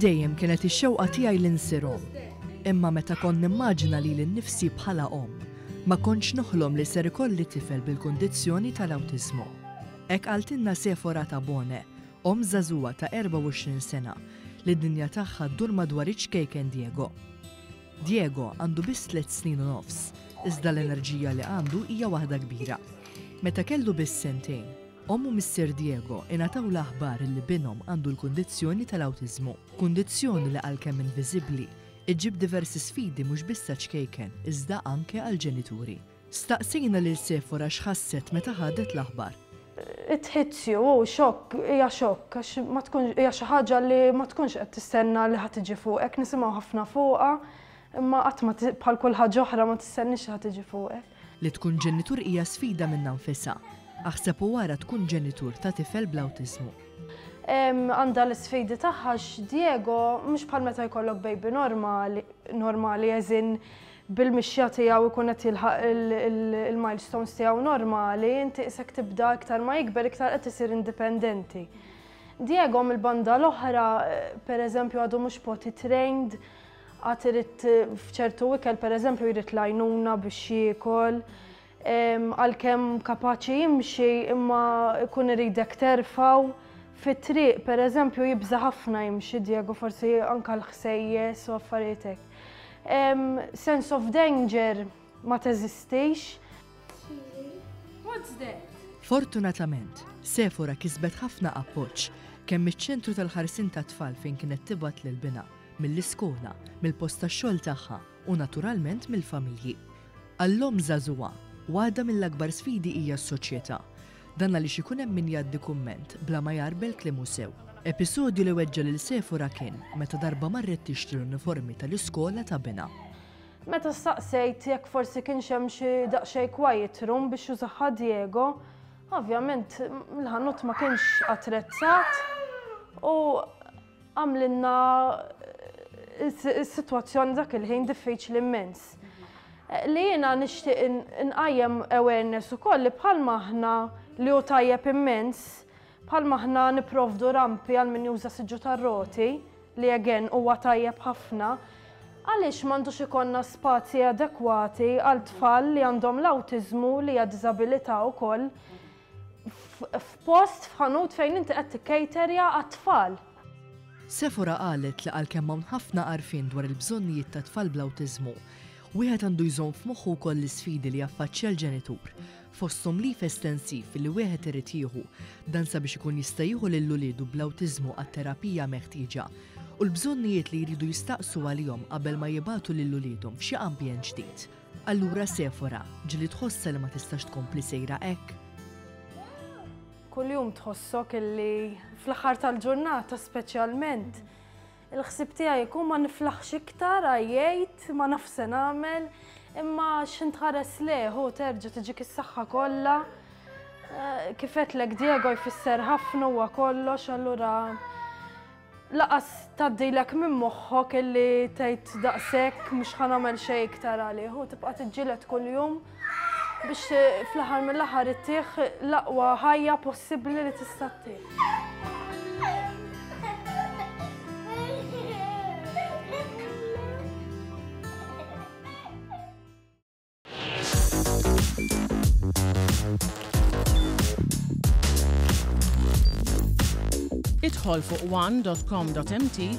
Minn dejjem kienet ix-xewqa tiegħi li nsir omm. Imma meta kont nimmaġina lili nnifsi bħala omm, ma kontx noħlom li ser ikolli tifel bil-kundizzjoni tal-awtiżmu. Hekk qaltilna Sephora Tabone, omm żagħżugħa ta' 24 sena, li d-dinja tagħha ddur madwar iċ-ċkejken Diego. Diego għandu biss tlett snin u nofs, iżda l-enerġija li għandu hija waħda kbira. Meta kellu biss sentejn, omm u missier Diego ingħataw l-aħbar li binhom għandu l-kundizzjoni tal-awtiżmu. Kundizzjoni li għalkemm inviżibbli, iġġib diversi sfidi mhux biss għaċ-ċkejken iżda anke għall-ġenituri. Staqsejna lil Sephora x'ħasset meta ħadet l-aħbar. It hits you, hu xokk, hija xokk għax ma tkunx hija xi ħaġa li ma tkunx qed tistenna li ħa tiġi fuqek, nisimgħu ħafna fuqha, imma qatt ma bħal kull ħaġa oħra ma tistenniex li ħa tiġi fuqek. Li tkun ġenitur hija sfida minnha nfisha, aħseb u ara tkun ġenitur ta' tifel bl-awtiżmu. Għandha l-isfidi tagħha għax Diego mhux bħal meta jkollok baby normali, normali as in bil-mixja tiegħu jkun qed jilħaq il-milestones tiegħu normali, inti qisek tibda iktar ma jikber iktar qed isir indipendenti. Diego mill-banda l-oħra, per eżempju, għadu mhux potty trained, għad irid f'ċertu ikel per eżempju jrid l-għajnuna biex jiekol, Għalkemm kapaċi jimxi imma jkun iridek terfgħu. Fit-triq, pereżempju, jibża' ħafna jimxi Diego, forsi anke l-ħsejjes u affarijiet hekk. Sense of danger ma teżistix. What's that? Fortunatament, Sephora kisbet ħafna appoġġ, kemm miċ-ċentru tal-ħarsien tat-tfal fejn kienet tibgħat lil binha, mill-iskola, mill-post tax-xogħol tagħha u naturalment mill-familji. Għall-omm żagħżugħa, waħda mill-akbar sfidi hija s-soċjetà. Dan għaliex ikun hemm min jgħaddi kumment bla ma jgħarbel kliemu sew. Episodju li weġġa' lil Sephora kien meta darba marret tixtri l-uniformi tal-iskola ta' binha. Meta staqsejt jekk forsi kienx hemm xi daqsxejn quiet room biex jużaha Diego, ovvjament l-ħanut ma kienx attrezzat u għamlilna s-sitwazzjoni dak il-ħin diffiċli immens. Li jiena nixtieq nqajjem awareness ukoll li bħalma aħna li hu tajjeb immens, bħalma aħna nipprovdu rampi għal min juża siġġu tar-roti, li again huwa tajjeb ħafna, għaliex m'għandux ikollna spazji adekwati għal tfal li għandhom l-awtiżmu li hija diżabilità wkoll f'post f'ħanut fejn inti qed tikkejterja għat-tfal. Sephora qalet li għalkemm hawn ħafna għarfien dwar il-bżonnijiet ta' tfal bl-awtiżmu, wieħed għandu jżomm f'moħħu wkoll l-isfidi li jaffaċċja l-ġenitur, fosthom leave estensiv li wieħed irid jieħu, dan sabiex ikun jista' jieħu lil uliedu bl-awtiżmu għat-terapija meħtieġa, u l-bżonnijiet li jridu jistaqsu għalihom qabel ma jibagħtu lil uliedhom f'xi ambjent ġdid. Allura Sephora, ġieli tħossha li ma tistax tkompli sejra hekk? Kuljum tħossok illi fl-aħħar tal-ġurnata speċjalment il-ħsieb tiegħi jkun ma niflaħx iktar, għajjejt, ma naf se nagħmel, imma x'int tħares lejh u terġa' tiġik is-saħħa kollha. Eh, kif għedtlek Diego jfisser ħafna huwa kollox, allura Laqas tgħaddilek minn moħħok illi tgħid daqshekk mhux ħa nagħmel xejn iktar għalih u tibqa' tiġġieled kuljum biex fl-aħħar mill-aħħar ittih l-aqwa ħajja possibbli li tista' ttih. Idħol fuq one.com.mt.